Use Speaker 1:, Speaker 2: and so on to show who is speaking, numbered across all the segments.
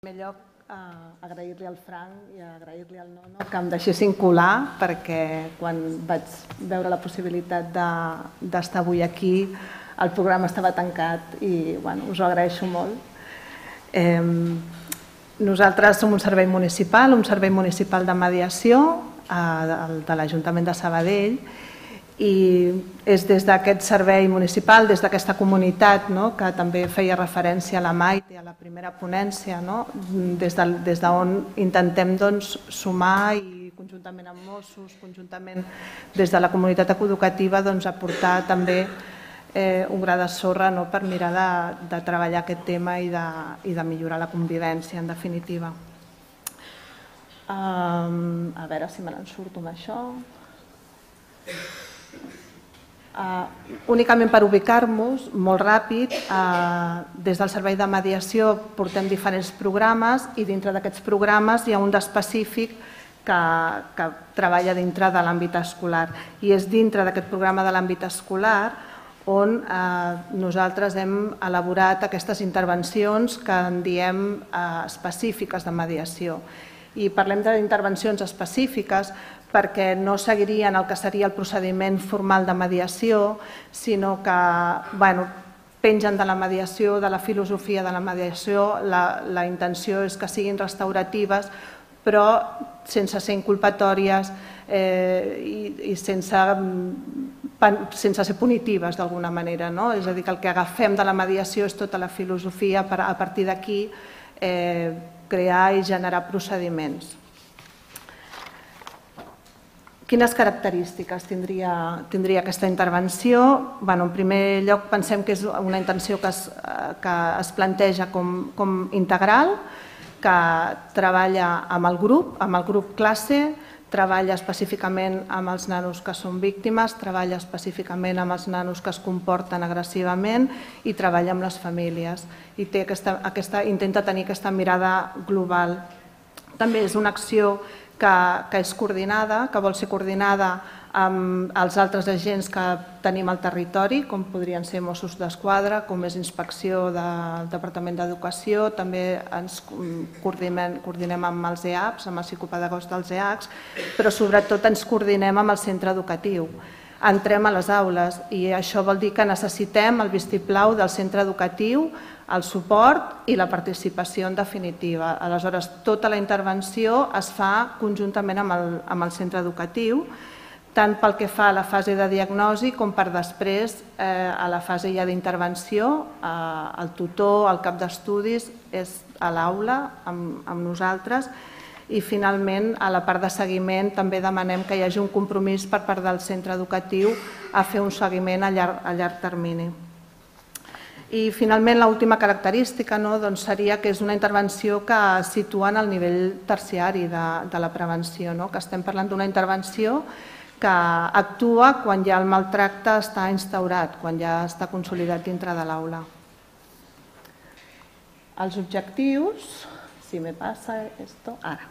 Speaker 1: En primer lloc, agrair-li al Frank i agrair-li al Nono que em deixessin colar, perquè quan vaig veure la possibilitat d'estar avui aquí el programa estava tancat i us ho agraeixo molt. Nosaltres som un servei municipal de mediació de l'Ajuntament de Sabadell, i és des d'aquest servei municipal, des d'aquesta comunitat, que també feia referència a la Maite, a la primera ponència, des d'on intentem sumar i conjuntament amb Mossos, conjuntament des de la comunitat educativa, aportar també un gra de sorra per mirar de treballar aquest tema i de millorar la convivència, en definitiva. A veure si me n'en surto amb això. Únicament per ubicar-nos, molt ràpid, des del servei de mediació portem diferents programes i dintre d'aquests programes hi ha un d'específic que treballa dintre de l'àmbit escolar, i és dintre d'aquest programa de l'àmbit escolar on nosaltres hem elaborat aquestes intervencions que en diem específiques de mediació. I parlem d'intervencions específiques perquè no seguirien el que seria el procediment formal de mediació, sinó que pengen de la mediació, de la filosofia de la mediació. La intenció és que siguin restauratives, però sense ser inculpatòries i sense ser punitives d'alguna manera. És a dir, que el que agafem de la mediació és tota la filosofia per a partir d'aquí crear i generar procediments. Quines característiques tindria aquesta intervenció? En primer lloc, pensem que és una intenció que es planteja com integral, que treballa amb el grup classe, treballa específicament amb els nanos que són víctimes, treballa específicament amb els nanos que es comporten agressivament i treballa amb les famílies. I intenta tenir aquesta mirada global. També és una acció que és coordinada, que vol ser coordinada amb els altres agents que tenim al territori, com podrien ser Mossos d'Esquadra, com és Inspecció del Departament d'Educació, també ens coordinem amb els EAPs, amb els psicopedagogs dels EAPs, però sobretot ens coordinem amb el centre educatiu. Entrem a les aules i això vol dir que necessitem el vistiplau del centre educatiu, el suport i la participació en definitiva. Aleshores, tota la intervenció es fa conjuntament amb el centre educatiu, tant pel que fa a la fase de diagnosi com per després a la fase ja d'intervenció. El tutor, el cap d'estudis és a l'aula amb nosaltres, i finalment a la part de seguiment també demanem que hi hagi un compromís per part del centre educatiu a fer un seguiment a llarg termini. I finalment l'última característica seria que és una intervenció que situa en el nivell terciari de la prevenció, que estem parlant d'una intervenció que actua quan ja el maltracte està instaurat, quan ja està consolidat dintre de l'aula. Els objectius, si me passa esto, ara.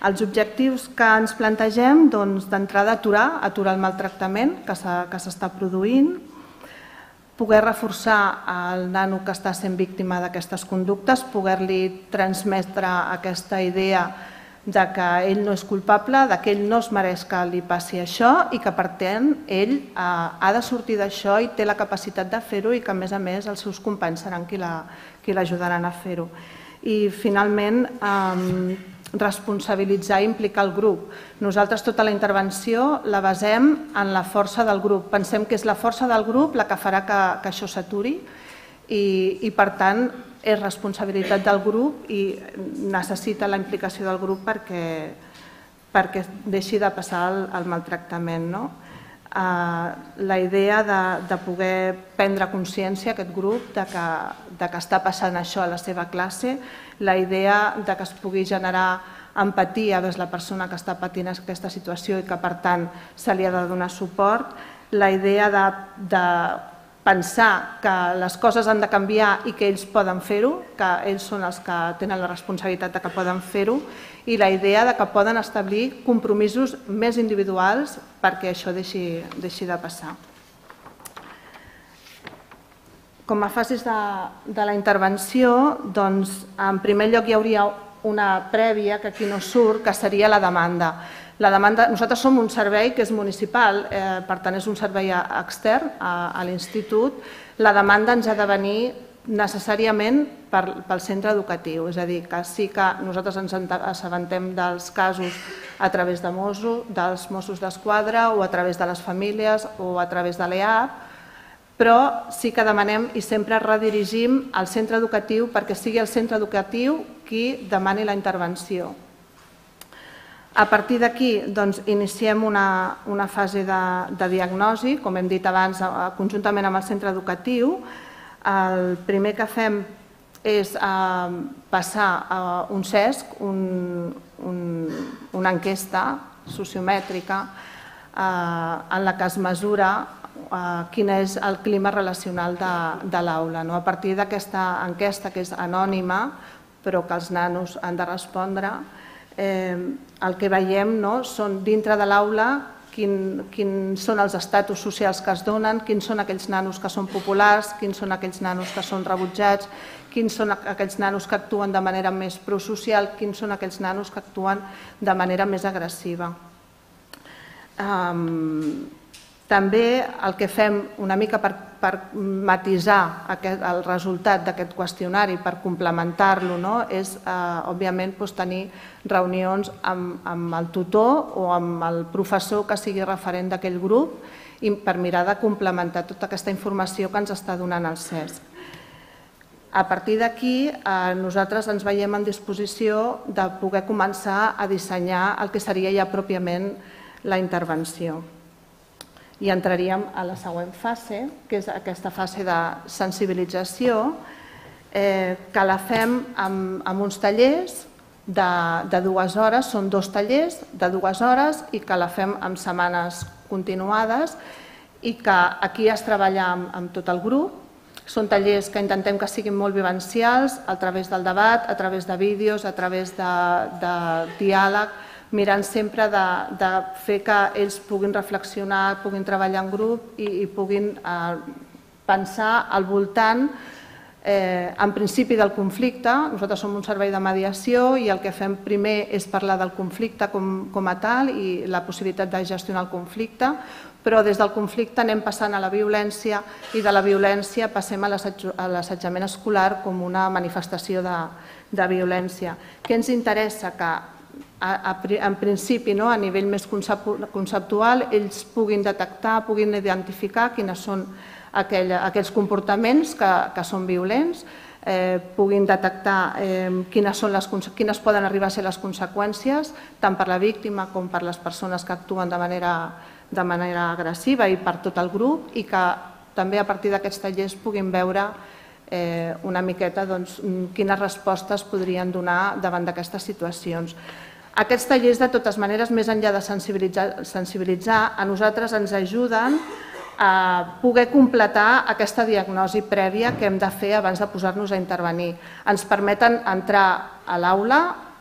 Speaker 1: Els objectius que ens plantegem, d'entrada, aturar el maltractament que s'està produint, poder reforçar el nano que està sent víctima d'aquestes conductes, poder-li transmetre aquesta idea de que ell no és culpable, que ell no es mereix que li passi això i que, per tant, ell ha de sortir d'això i té la capacitat de fer-ho, i que, a més, els seus companys seran qui l'ajudaran a fer-ho. I, finalment, responsabilitzar i implicar el grup. Nosaltres tota la intervenció la basem en la força del grup. Pensem que és la força del grup la que farà que això s'aturi i, per tant, és responsabilitat del grup i necessita la implicació del grup perquè deixi de passar el maltractament. La idea de poder prendre consciència, aquest grup, de que està passant això a la seva classe, la idea de que es pugui generar empatia vers la persona que està patint aquesta situació i que, per tant, se li ha de donar suport, la idea de pensar que les coses han de canviar i que ells poden fer-ho, que ells són els que tenen la responsabilitat de que poden fer-ho, i la idea de que poden establir compromisos més individuals perquè això deixi de passar. Com a fases de la intervenció, doncs, en primer lloc hi hauria una prèvia, que aquí no surt, que seria la demanda. Nosaltres som un servei que és municipal, per tant és un servei extern a l'institut. La demanda ens ha de venir necessàriament pel centre educatiu, és a dir, que sí que nosaltres ens assabentem dels casos a través dels Mossos d'Esquadra o a través de les famílies o a través de l'EAP, però sí que demanem i sempre redirigim al centre educatiu perquè sigui el centre educatiu qui demani la intervenció. A partir d'aquí iniciem una fase de diagnosi, com hem dit abans, conjuntament amb el centre educatiu. El primer que fem és passar a un CESC, una enquesta sociomètrica en la que es mesura quin és el clima relacional de l'aula. A partir d'aquesta enquesta, que és anònima, però que els nanos han de respondre, el que veiem són dintre de l'aula quins són els estatus socials que es donen, quins són aquells nanos que són populars, quins són aquells nanos que són rebutjats, quins són aquells nanos que actuen de manera més prosocial, quins són aquells nanos que actuen de manera més agressiva. També el que fem una mica per matisar el resultat d'aquest qüestionari, per complementar-lo, és, òbviament, tenir reunions amb el tutor o amb el professor que sigui referent d'aquell grup per mirar de complementar tota aquesta informació que ens està donant el CESC. A partir d'aquí, nosaltres ens veiem en disposició de poder començar a dissenyar el que seria ja pròpiament la intervenció. I entraríem a la següent fase, que és aquesta fase de sensibilització, que la fem amb uns tallers de 2 hores, són 2 tallers de 2 hores i que la fem en setmanes continuades i que aquí es treballa amb tot el grup. Són tallers que intentem que siguin molt vivencials, a través del debat, a través de vídeos, a través de diàleg, mirant sempre de fer que ells puguin reflexionar, puguin treballar en grup i puguin pensar al voltant, en principi, del conflicte. Nosaltres som un servei de mediació i el que fem primer és parlar del conflicte com a tal i la possibilitat de gestionar el conflicte, però des del conflicte anem passant a la violència i de la violència passem a l'assetjament escolar com una manifestació de violència. Què ens interessa? Que en principi, a nivell més conceptual, ells puguin detectar, puguin identificar quins són aquells comportaments que són violents, puguin detectar quines poden arribar a ser les conseqüències, tant per la víctima com per les persones que actuen de manera agressiva i per tot el grup, i que també a partir d'aquests tallers puguin veure una miqueta quines respostes podrien donar davant d'aquestes situacions. Aquests tallers, de totes maneres, més enllà de sensibilitzar, a nosaltres ens ajuden a poder completar aquesta diagnosi prèvia que hem de fer abans de posar-nos a intervenir. Ens permeten entrar a l'aula.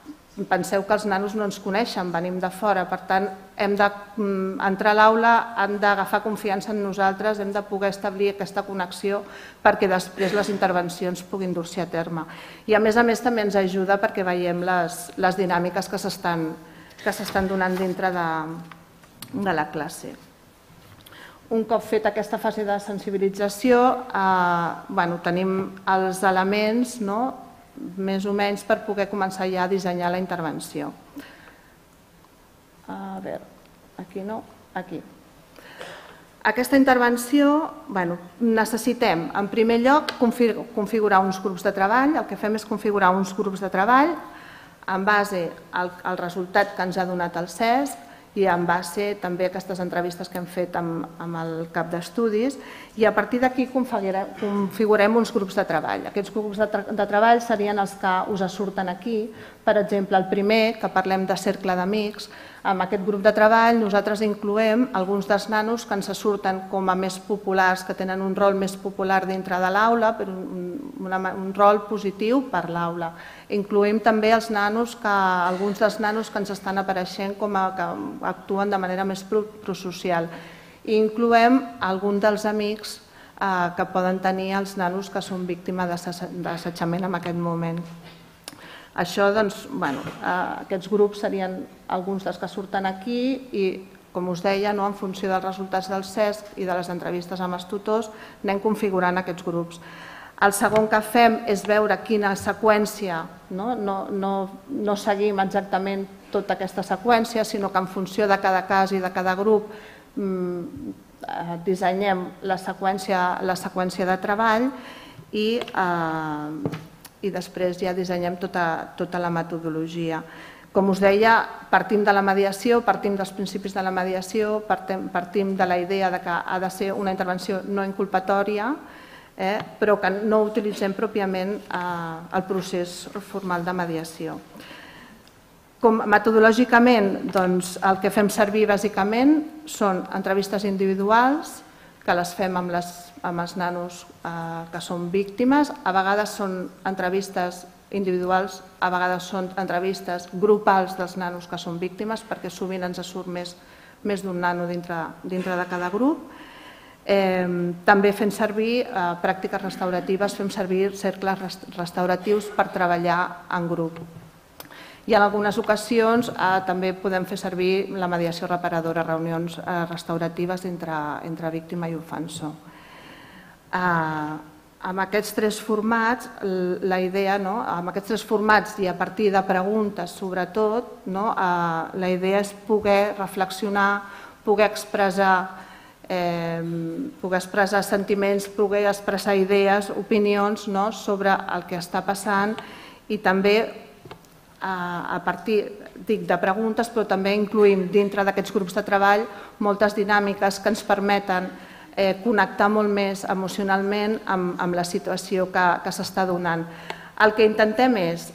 Speaker 1: Penseu que els nanos no ens coneixen, venim de fora, per tant, hem d'entrar a l'aula, han d'agafar confiança en nosaltres, hem de poder establir aquesta connexió perquè després les intervencions puguin dur-se a terme. I a més també ens ajuda perquè veiem les dinàmiques que s'estan donant dintre de la classe. Un cop feta aquesta fase de sensibilització, tenim els elements més o menys per poder començar ja a dissenyar la intervenció. A veure, aquí no, aquí. Aquesta intervenció, necessitem, en primer lloc, configurar uns grups de treball. El que fem és configurar uns grups de treball en base al resultat que ens ha donat el CESC i en base també a aquestes entrevistes que hem fet amb el cap d'estudis, i a partir d'aquí configurem uns grups de treball. Aquests grups de treball serien els que us surten aquí. Per exemple, el primer, que parlem de cercle d'amics, en aquest grup de treball nosaltres incloem alguns dels nanos que ens surten com a més populars, que tenen un rol més popular dintre de l'aula, però un rol positiu per l'aula. Incloem també alguns dels nanos que ens estan apareixent com que actuen de manera més prosocial. I incloem alguns dels amics que poden tenir els nanos que són víctimes d'assetjament en aquest moment. Això, doncs, aquests grups serien alguns dels que surten aquí i, com us deia, en funció dels resultats del CESC i de les entrevistes amb els tutors, anem configurant aquests grups. El segon que fem és veure quina seqüència, no seguim exactament tota aquesta seqüència, sinó que en funció de cada cas i de cada grup dissenyem la seqüència de treball i després ja dissenyem tota la metodologia. Com us deia, partim de la mediació, partim dels principis de la mediació, partim de la idea que ha de ser una intervenció no inculpatòria, però que no utilitzem pròpiament el procés formal de mediació. Metodològicament, el que fem servir bàsicament són entrevistes individuals, que les fem amb els nanos que són víctimes. A vegades són entrevistes individuals, a vegades són entrevistes grupals dels nanos que són víctimes, perquè sovint ens surt més d'un nano dintre de cada grup. També fem servir pràctiques restauratives, fem servir cercles restauratius per treballar en grup. I en algunes ocasions també podem fer servir la mediació reparadora, reunions restauratives entre víctima i ofensor. Amb aquests tres formats, la idea, amb aquests tres formats i a partir de preguntes sobretot, la idea és poder reflexionar, poder expressar sentiments, poder expressar idees, opinions sobre el que està passant i també a partir de preguntes, però també incluïm dintre d'aquests grups de treball moltes dinàmiques que ens permeten connectar molt més emocionalment amb la situació que s'està donant. El que intentem és,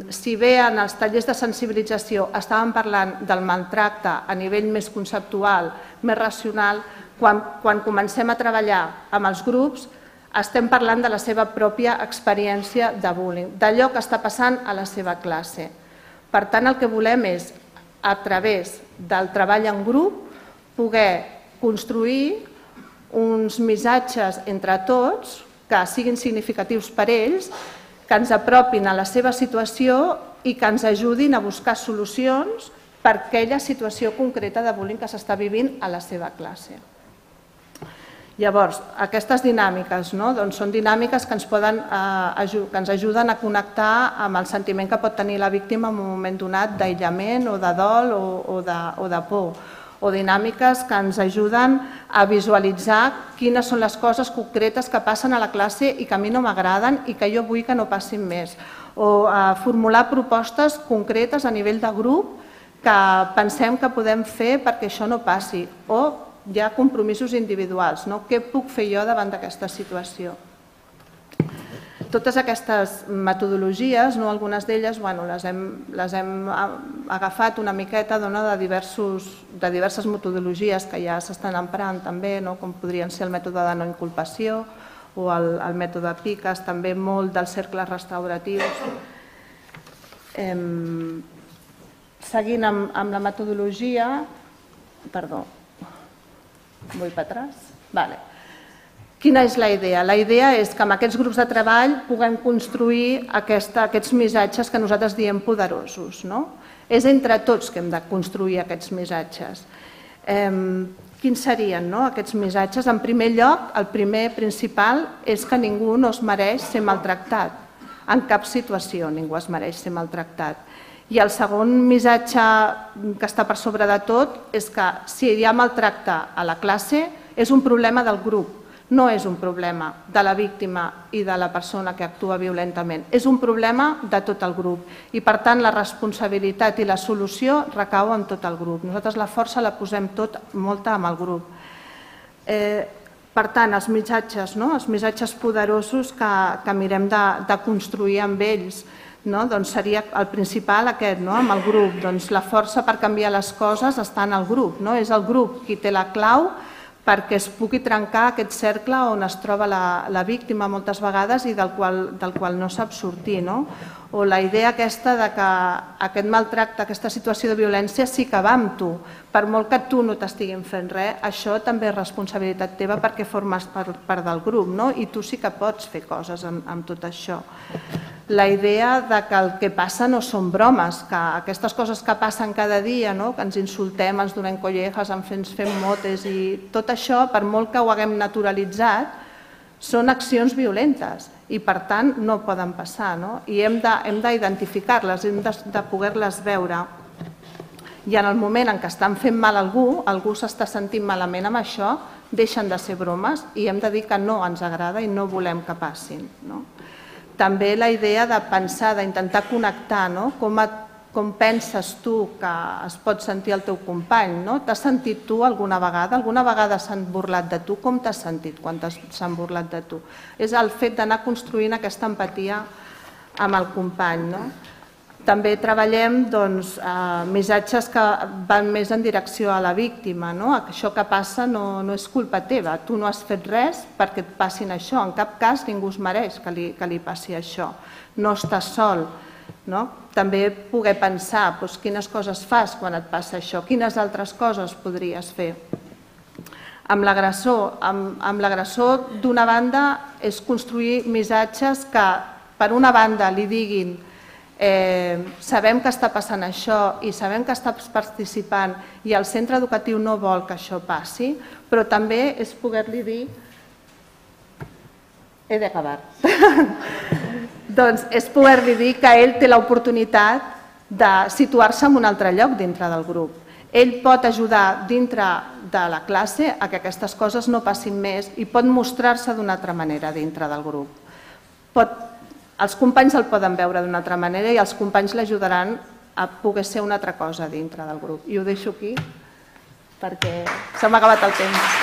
Speaker 1: si bé en els tallers de sensibilització estàvem parlant del maltracte a nivell més conceptual, més racional, quan comencem a treballar amb els grups estem parlant de la seva pròpia experiència de bullying, d'allò que està passant a la seva classe. Per tant, el que volem és, a través del treball en grup, poder construir uns missatges entre tots que siguin significatius per ells, que ens apropin a la seva situació i que ens ajudin a buscar solucions per aquella situació concreta de bullying que s'està vivint a la seva classe. Llavors, aquestes dinàmiques són dinàmiques que ens ajuden a connectar amb el sentiment que pot tenir la víctima en un moment donat d'aïllament o de dol o de por, o dinàmiques que ens ajuden a visualitzar quines són les coses concretes que passen a la classe i que a mi no m'agraden i que jo vull que no passin més, o a formular propostes concretes a nivell de grup que pensem que podem fer perquè això no passi, o hi ha compromisos individuals. Què puc fer jo davant d'aquesta situació? Totes aquestes metodologies, algunes d'elles les hem agafat una miqueta de diverses metodologies que ja s'estan emprant també, com podrien ser el mètode de no inculpació o el mètode PICAS, també molt dels cercles restauratius. Seguint amb la metodologia, perdó, vull per atrás. Quina és la idea? La idea és que amb aquests grups de treball puguem construir aquests missatges que nosaltres diem poderosos. És entre tots que hem de construir aquests missatges. Quins serien aquests missatges? En primer lloc, el primer principal és que ningú no es mereix ser maltractat. En cap situació ningú es mereix ser maltractat. I el segon missatge que està per sobre de tot és que si hi ha maltracte a la classe és un problema del grup, no és un problema de la víctima i de la persona que actua violentament, és un problema de tot el grup i per tant la responsabilitat i la solució recau en tot el grup. Nosaltres la força la posem molta amb el grup. Per tant, els missatges poderosos que mirem de construir amb ells, seria el principal aquest, amb el grup. La força per canviar les coses està en el grup. És el grup qui té la clau perquè es pugui trencar aquest cercle on es troba la víctima moltes vegades i del qual no sap sortir. O la idea aquesta que aquest maltracte, aquesta situació de violència sí que va amb tu. Per molt que tu no t'estiguin fent res, això també és responsabilitat teva perquè formes part del grup i tu sí que pots fer coses amb tot això. La idea que el que passa no són bromes, que aquestes coses que passen cada dia, que ens insultem, ens donem collejas, ens fem motes i tot això, per molt que ho haguem naturalitzat, són accions violentes i per tant no poden passar i hem d'identificar-les, hem de poder-les veure. I en el moment en què estan fent mal a algú s'està sentint malament amb això, deixen de ser bromes i hem de dir que no ens agrada i no volem que passin. També la idea de pensar, d'intentar connectar, com penses tu que es pot sentir el teu company? T'has sentit tu alguna vegada? Alguna vegada s'han burlat de tu? Com t'has sentit quan s'han burlat de tu? És el fet d'anar construint aquesta empatia amb el company. També treballem missatges que van més en direcció a la víctima. Això que passa no és culpa teva. Tu no has fet res perquè et passin això. En cap cas ningú es mereix que li passi això. No estàs sol. També poder pensar quines coses fas quan et passa això, quines altres coses podries fer. Amb l'agressor, d'una banda, és construir missatges que, per una banda, li diguin sabem que està passant això i sabem que estàs participant i el centre educatiu no vol que això passi, però també és poder-li dir he d'acabar. Doncs és poder-li dir que ell té l'oportunitat de situar-se en un altre lloc dintre del grup. Ell pot ajudar dintre de la classe a que aquestes coses no passin més i pot mostrar-se d'una altra manera dintre del grup. Els companys el poden veure d'una altra manera i els companys l'ajudaran a poder ser una altra cosa dintre del grup. I ho deixo aquí perquè se m'ha acabat el temps.